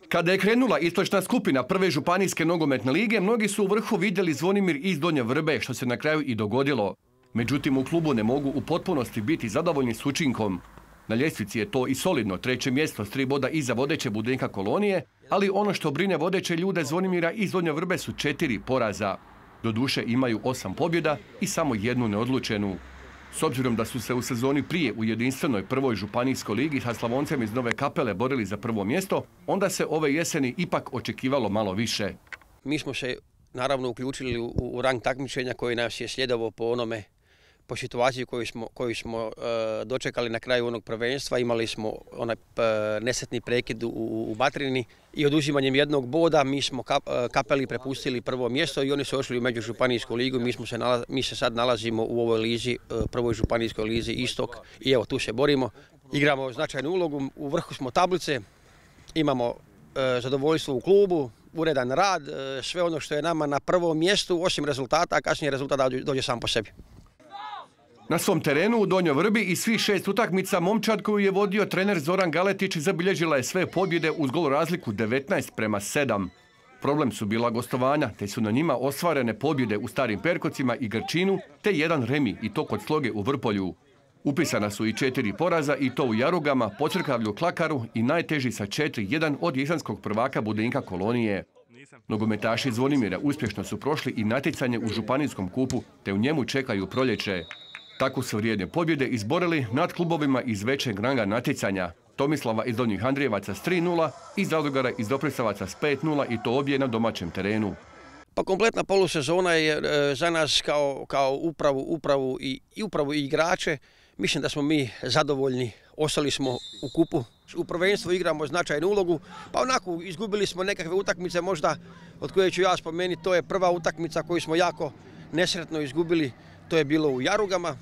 Kada je krenula istočna skupina prve županijske nogometne lige, mnogi su u vrhu vidjeli Zvonimir iz Donje Vrbe, što se na kraju i dogodilo. Međutim, u klubu ne mogu u potpunosti biti zadovoljni s učinkom. Na ljestvici je to i solidno 3. mjesto s 3 boda iza vodeće Budenka Kolonije, ali ono što brine vodeće ljude Zvonimira iz Donje Vrbe su 4 poraza. Doduše imaju 8 pobjeda i samo 1 neodlučenu. S obzirom da su se u sezoni prije u jedinstvenoj prvoj županijskoj ligi sa Slavoncem iz Nove Kapele borili za prvo mjesto, onda se ove jeseni ipak očekivalo malo više. Mi smo se naravno uključili u rang takmičenja koji nas je slijedovao po situaciji koju smo dočekali na kraju onog prvenstva. Imali smo onaj nesretni prekid u Batrini i oduzimanjem 1 boda mi smo Kapeli prepustili prvo mjesto i oni su ošli u međužupanijsku ligu. Mi se sad nalazimo u ovoj lizi, prvoj županijskoj lizi Istok i evo tu se borimo. Igramo značajnu ulogu, u vrhu smo tablice, imamo zadovoljstvo u klubu, uredan rad, sve ono što je nama na prvom mjestu, osim rezultata, a kasnije rezultat dođe sam po sebi. Na svom terenu u Donjoj Vrbi i svih 6 utakmica momčad koju je vodio trener Zoran Galetić zabilježila je sve pobjede uz gol razliku 19:7. Problem su bila gostovanja, te su na njima ostvarene pobjede u Starim Perkocima i Grčinu, te 1 remi i to kod Sloge u Vrpolju. Upisana su i 4 poraza i to u Jarugama, Pocrkavlju, Klakaru i najteži sa 4:1 od jesenskog prvaka Budenka Kolonije. Nogometaši Zvonimira uspješno su prošli i natjecanje u županijskom kupu, te u njemu čekaju proljeće. Tako su vrijedne pobjede izborili nad klubovima iz većeg ranga natjecanja. Tomislava iz Donjih Andrijevaca s 3:0 i Zadugara iz Doprislavaca s 5:0 i to obje na domaćem terenu. Pa kompletna polusezona je za nas kao upravu i igrače. Mislim da smo mi zadovoljni, ostali smo u kupu. U prvenstvu igramo značajnu ulogu, pa onako izgubili smo nekakve utakmice možda od koje ću ja spomenuti. To je prva utakmica koju smo jako nesretno izgubili, to je bilo u Jarugama.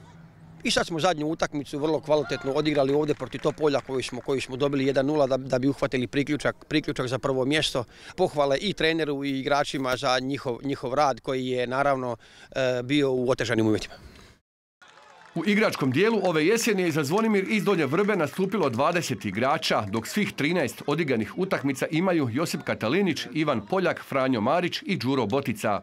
I sad smo zadnju utakmicu vrlo kvalitetno odigrali ovdje protiv Topolja koju smo dobili 1:0 da bi uhvatili priključak za prvo mjesto. Pohvale i treneru i igračima za njihov rad koji je naravno bio u otežanim uvjetima. U igračkom dijelu ove jeseni je za Zvonimir iz Donje Vrbe nastupilo 20 igrača, dok svih 13 odigranih utakmica imaju Josip Katalinić, Ivan Poljak, Franjo Marić i Đuro Botica.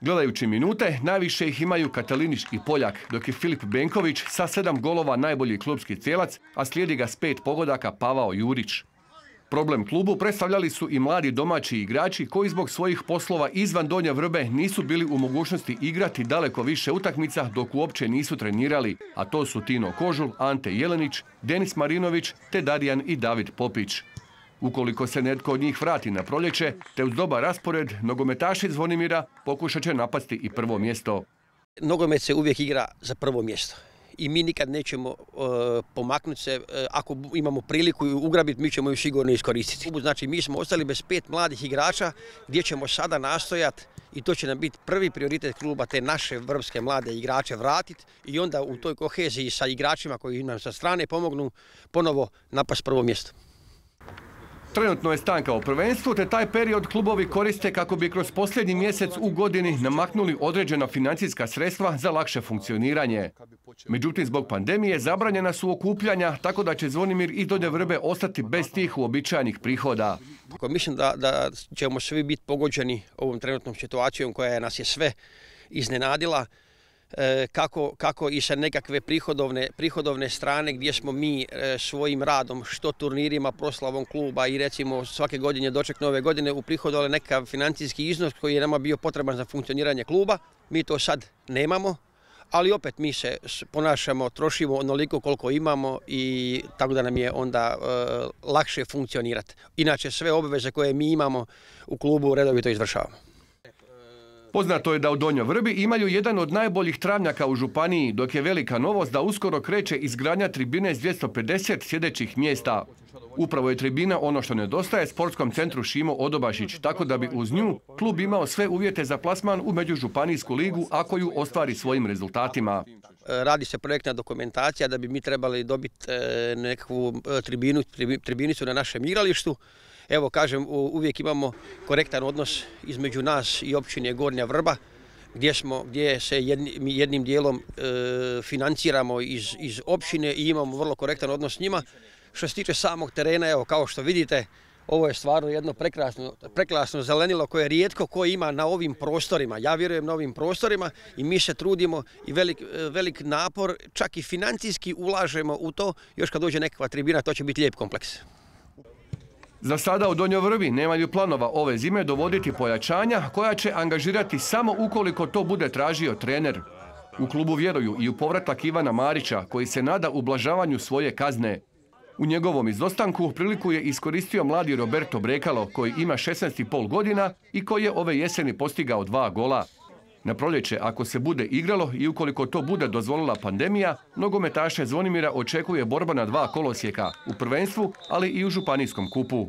Gledajući minute, najviše ih imaju Katalinić i Poljak, dok je Filip Benković sa 7 golova najbolji klubski cijelac, a slijedi ga s 5 pogodaka Pavao Jurić. Problem klubu predstavljali su i mladi domaći igrači koji zbog svojih poslova izvan Donje Vrbe nisu bili u mogućnosti igrati daleko više utakmica dok uopće nisu trenirali, a to su Tino Kožul, Ante Jelenić, Denis Marinović te Darijan i David Popić. Ukoliko se netko od njih vrati na proljeće, te uz dobar raspored, nogometaši Zvonimira pokušat će napasti i prvo mjesto. Nogomet se uvijek igra za prvo mjesto i mi nikad nećemo pomaknuti se. Ako imamo priliku ju ugrabiti, mi ćemo ju sigurno iskoristiti. Znači, mi smo ostali bez 5 mladih igrača gdje ćemo sada nastojati i to će nam biti prvi prioritet kluba, te naše vrbske mlade igrače vratiti i onda u toj koheziji sa igračima koji nam sa strane pomognu ponovo napast prvo mjesto. Trenutno je stanka u prvenstvu, te taj period klubovi koriste kako bi kroz posljednji mjesec u godini namaknuli određena financijska sredstva za lakše funkcioniranje. Međutim, zbog pandemije zabranjena su okupljanja, tako da će Zvonimir iz Donje Vrbe ostati bez tih uobičajenih prihoda. Mislim da ćemo svi biti pogođeni ovom trenutnom situacijom koja nas je sve iznenadila. Kako i sa nekakve prihodovne strane gdje smo mi svojim radom, što turnirima, proslavom kluba i recimo svake godine doček nove godine uprihodovali nekakav financijski iznos koji je nama bio potreban za funkcioniranje kluba. Mi to sad nemamo, ali opet mi se ponašamo, trošimo onoliko koliko imamo i tako da nam je onda lakše funkcionirati. Inače sve obveze koje mi imamo u klubu redovito izvršavamo. Poznato je da u Donjoj Vrbi imaju jedan od najboljih travnjaka u županiji, dok je velika novost da uskoro kreće izgradnja tribine s 250 sjedećih mjesta. Upravo je tribina ono što nedostaje sportskom centru Šimo Odobašić, tako da bi uz nju klub imao sve uvjete za plasman u međužupanijsku ligu ako ju ostvari svojim rezultatima. Radi se projektna dokumentacija da bi mi trebali dobiti nekakvu tribinicu na našem igralištu. Evo kažem, uvijek imamo korektan odnos između nas i općine Gornja Vrba, gdje se jednim dijelom financiramo iz općine i imamo vrlo korektan odnos s njima. Što se tiče samog terena, evo kao što vidite, Ovo je stvarno jedno prekrasno zelenilo koje rijetko ko ima na ovim prostorima. Ja vjerujem na ovim prostorima i mi se trudimo i velik napor, čak i financijski ulažemo u to. Još kad dođe nekakva tribina, to će biti lijep kompleks. Za sada u Donjoj Vrbi nemaju planova ove zime dovoditi pojačanja koja će angažirati samo ukoliko to bude tražio trener. U klubu vjeruju i u povratak Ivana Marića koji se nada ublažavanju svoje kazne. U njegovom izostanku priliku je iskoristio mladi Roberto Brekalo koji ima 16,5 godina i koji je ove jeseni postigao 2 gola. Na proljeće, ako se bude igralo i ukoliko to bude dozvolila pandemija, nogometaše Zvonimira očekuje borba na 2 kolosijeka, u prvenstvu, ali i u županijskom kupu.